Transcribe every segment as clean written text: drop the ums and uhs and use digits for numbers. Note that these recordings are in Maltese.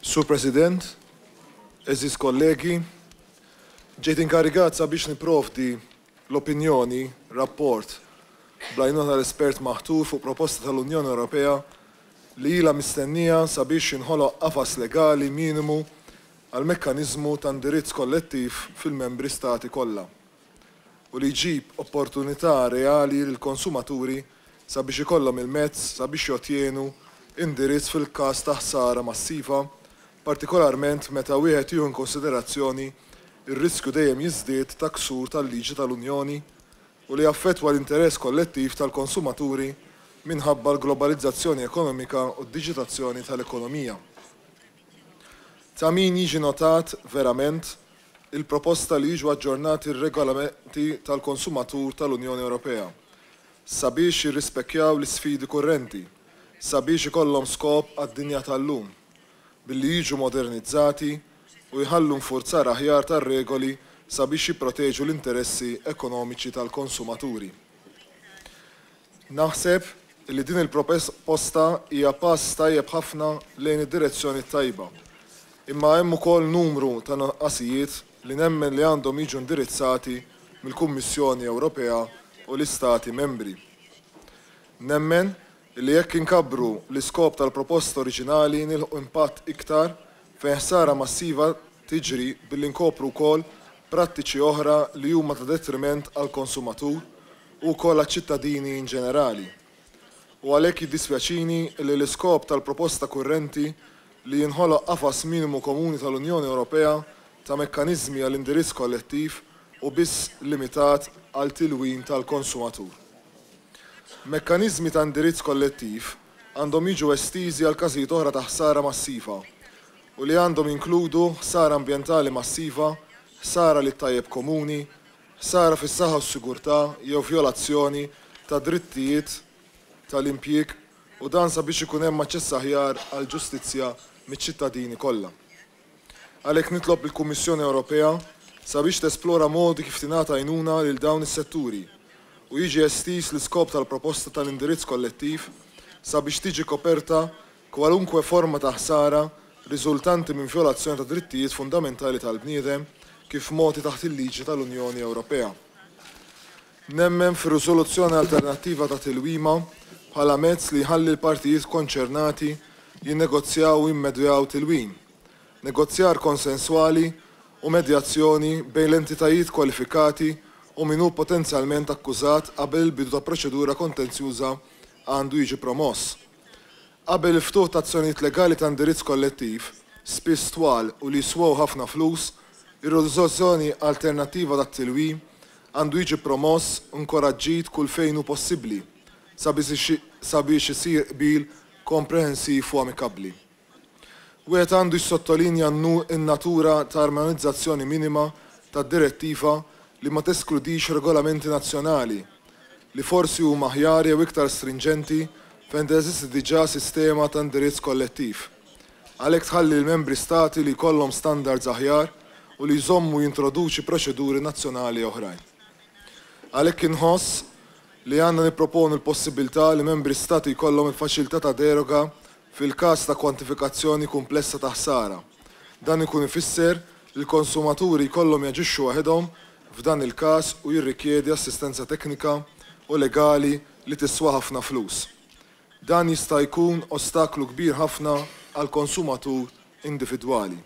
Sur President, għeżież kollegi, ġejt inkarigat sabiex nipprovdi l-opinjoni, rapport, bl-għajnuna tal-espert maħtur fuq proposta tal-Unjoni Ewropea li ilha mistennija sabiex jinħoloq qafas legali minimu għal mekkaniżmu ta' indirizz kollettiv fil-Membri Stati kollha u li jġib opportunità reali lill-konsumaturi sabiex ikollhom il-mezz sabiex jottjenu indirizz fil-każ ta' ħsara massiva, partikolarment meta wieħed jieħu inkonsiderazzjoni r-riskju dejjem jiżdied ta' ksur tal-liġi tal-Unjoni u li jaffettwa l-interess kollettiv tal-konsumaturi minħabba l-globalizzazzjoni ekonomika u d-diġitazzjoni tal-ekonomija. Ta' min jiġi notat verament il-proposta li jiġu aġġornati r-regolamenti tal-konsumatur tal-Unjoni Ewropea sabiex jirrispekkjaw l-isfidi kurrenti sabiex ikollhom skop għad-dinja tal-lum billi jiġu modernizzati u jħallu nfurzar aħjar tar-regoli sabiex jipproteġu l-interessi ekonomiċi tal-konsumaturi. Naħseb li din il-proposta hija pass tajjeb ħafna lejn id-direzzjoni t-tajba. Imma hemm ukoll numru ta' nuqqasijiet li nemmen li għandhom jiġu indirizzati mill-Kummissjoni Ewropea u l-Istati Membri. Nemmen li jekk inkabbru l-iskop tal-proposta oriġinali nilħqu impatt iktar fejn ħsara massiva tiġri billi nkopru wkoll prattiċi oħra li huma ta' detriment għall-konsumatur u wkoll għaċ-ċittadini in ġenerali. U għalhekk jiddispjaċini li l-iskop tal-proposta kurrenti li jinħoloq qafas minimu komuni tal-Unjoni Ewropea ta' mekkaniżmi għal indirizz kollettiv hu biss limitat għal tilwim tal-konsumatur. Mekkaniżmi ta' indirizz kollettiv għandhom jiġu estiżi għal każijiet oħra ta' ħsara massiva u li għandhom jinkludu ħsara ambjentali massiva, ħsara lit-tajjeb komuni, ħsara fis-saħħa u s-sigurtà jew vjolazzjoni ta' drittijiet tal-impjieg u dan sabiex ikun hemm aċċess aħjar għall-ġustizzja miċ-ċittadini kollha. Għalhekk nitlob lill-Kummissjoni Ewropea sabiex tesplora modi kif tingħata għajnuna lil dawn is-setturi u jiġi estiż l-iskop tal-proposta tal-indirizz kollettiv sabiex tiġi koperta kwalunkwe forma ta' ħsara riżultanti minn vjolazzjoni ta' drittijiet fundamentali tal-bniedem kif mogħti taħt il-liġi tal-Unjoni Ewropea. Nemmen fir-riżoluzzjoni alternattiva ta' tilwima bħala mezz li jħalli l-partijiet konċernati jinnegozjaw u jimmedjaw tilwim. Negozjar konsenswali u medjazzjoni bejn l-entitajiet kwalifikati u min hu potenzjalment akkużat qabel il-bidu ta' proċedura kontenzjuża għandu jiġi promoss. Qabel il-ftuħ ta' azzjonijiet legali ta' indirizz kollettiv, spiss twal u li jiswew ħafna flus, ir-riżoluzzjoni alternattiva tat-tilwim għandu jiġi promoss u nkoraġġit kull fejn hu possibbli sabiex isir qbil komprehensiv u amikabbli. Wieħed għandu jissottolinja n-natura ta' armonizzazzjoni minima tad-Direttiva li ma teskludix regolamenti nazzjonali li forsi huma aħjar jew iktar strinġenti fejn teżisti diġà sistema ta' indirizz kollettiv. Għalhekk tħalli lill-Membri Stati li jkollhom standards aħjar u li jżommu jintroduċi proċeduri nazzjonali oħrajn. Għalhekk inħoss li għandna nipproponu l-possibbiltà li Membri Stati jkollhom il-faċilità ta' deroga fil-każ ta' kwantifikazzjoni kumplessa ta' ħsara. Dan ikun ifisser li l-konsumaturi jkollhom jaġixxu waħedhom f'dan il-każ u jirrikjedi assistenza teknika u legali li tiswa ħafna flus. Dan jista' jkun ostaklu kbir ħafna għall-konsumatur individwali.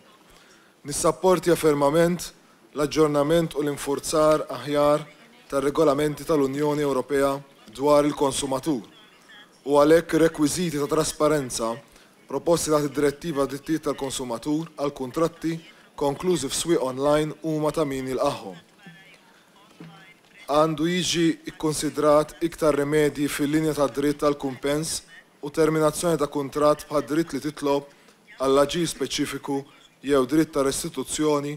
Nissapportja fermament l-aġġornament u l-infurzar aħjar tar-regolamenti tal-Unjoni Ewropea dwar il-konsumatur u għalhekk ir-rekwiżiti ta' trasparenza proposti taħt id-Direttiva Drittijiet tal-Konsumatur għal kuntratti konklużi f'swieq online huma ta' min jilqagħhom. Għandu jiġi kkunsidrat iktar rimedji fil-linja tad-dritt għal kumpens u terminazzjoni ta' kuntratt bħad-dritt li titlob għal aġir speċifiku jew dritt ta' restituzzjoni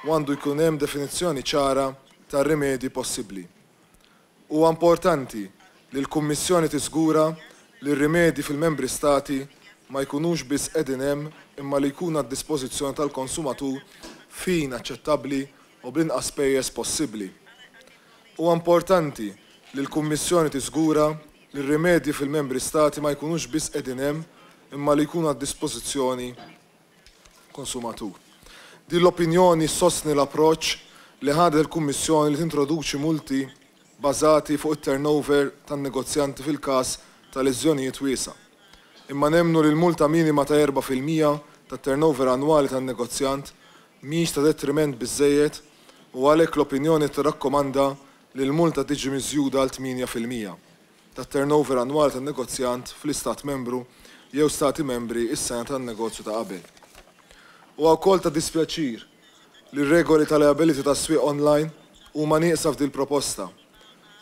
u għandu jkun hemm definizzjoni ċara tar-rimedji possibbli. Huwa importanti li l-Kummissjoni tiżgura li r-rimedji fil-Membri Stati ma jkunux biss qegħdin hemm imma li jkunu għad-dispożizzjoni tal-konsumatur f'ħin aċċettabbli u bl-inqas spejjeż possibbli. Huwa importanti li l-Kummissjoni tiżgura li r-rimedji fil-Membri Stati ma jkunux biss qegħdin hemm imma li jkunu għad-dispożizzjoni. konsumatur. Din l-opinjoni ssostni l-approċċ li ħadet il-Kummissjoni li tintroduċi multi bażati fuq it-turnover tan-negozjanti fil-każ ta' leżjonijiet wiesgħa. Imma nemmnu li l-multa minima ta' 4% tat-turnover annwali tan-negozjant mhijiex ta' detriment biżżejjed u għalhekk l-opinjoni tirrakkomanda li l-multa tiġi miżjuda għal 8% tat-turnover annwali tan-negozjant fl-Istat Membru jew Stati Membri s-sena tan-negozju ta' qabel. Huwa wkoll ta' dispjaċir li r-regoli ta' liability tas-swieq online huma nieqsa f'dil-proposta.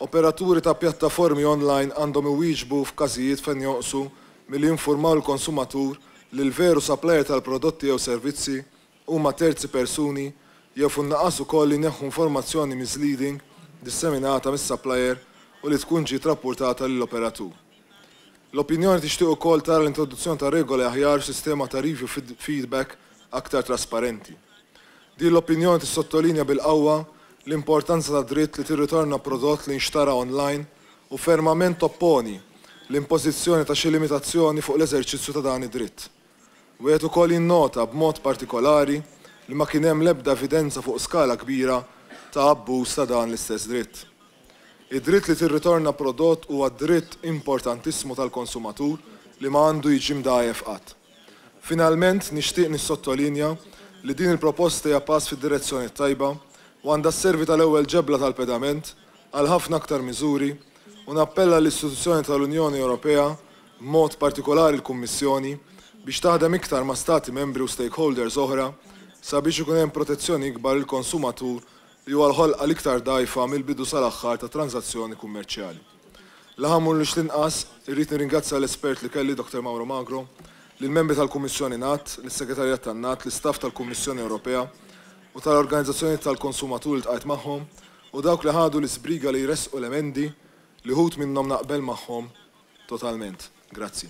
Operaturi ta' pjattaformi online għandhom iwieġbu f'każijiet fejn jonqsu milli jinfurmaw lill-konsumatur li l-veru supplier tal-prodotti jew servizzi huma terzi persuni jew fin-nuqqas ukoll li jneħħu informazzjoni misleading disseminata mis-supplier u li tkun ġiet rappurtata lill-operatur. L-opinjoni tixtieq ukoll tara l-introduzzjoni ta' regoli aħjar u sistema ta' review feedback aktar trasparenti. Din l-opinjoni tissottolinja bil-qawwa l-importanza ta' dritt li tirritorna prodott li nxtara online u fermament topponi l-impożizzjoni ta' xi limitazzjoni fuq l-eżerċizzju ta' dan id-dritt. Wieħed ukoll jinnota b'mod partikolari li ma kien hemm l-ebda evidenza fuq skala kbira ta' abbuż ta' dan l-istess dritt. Id-dritt li tirritorna prodott huwa dritt importantissimu tal-konsumatur li ma għandu jiġi mdgħajjef qatt. Finalment, nixtieq nissottolinja li din il-proposta hija pass fid-direzzjoni tajba u għandha sservi tal-ewwel ġebla tal-pedament għal ħafna aktar miżuri u nappella l-istituzzjoni tal-Unjoni Ewropea, b'mod partikolari l-Kummissjoni, biex taħdem iktar ma' stati membri u stakeholders oħra sabiex ikun hemm protezzjoni ikbar lill-konsumatur li huwa l-ħolqa l-iktar dgħajfa mill-bidu sal-aħħar ta' tranżazzjoni kummerċjali. L-aħħar mhux l-inqas, irrid nirringrazzja l-espert li kelli, Dr. Mauro Magro, lill-membri tal-Kummissjoni NAT, lis-Segretarjat tan-NAT, l-istaff tal-Kummissjoni Ewropea u tal-organizzazzjoni tal-konsumatur li ltqajt magħhom u dawk li ħadu l-isbriga li jressqu l-emendi li wħud minnhom naqbel magħhom totalment. Grazzi.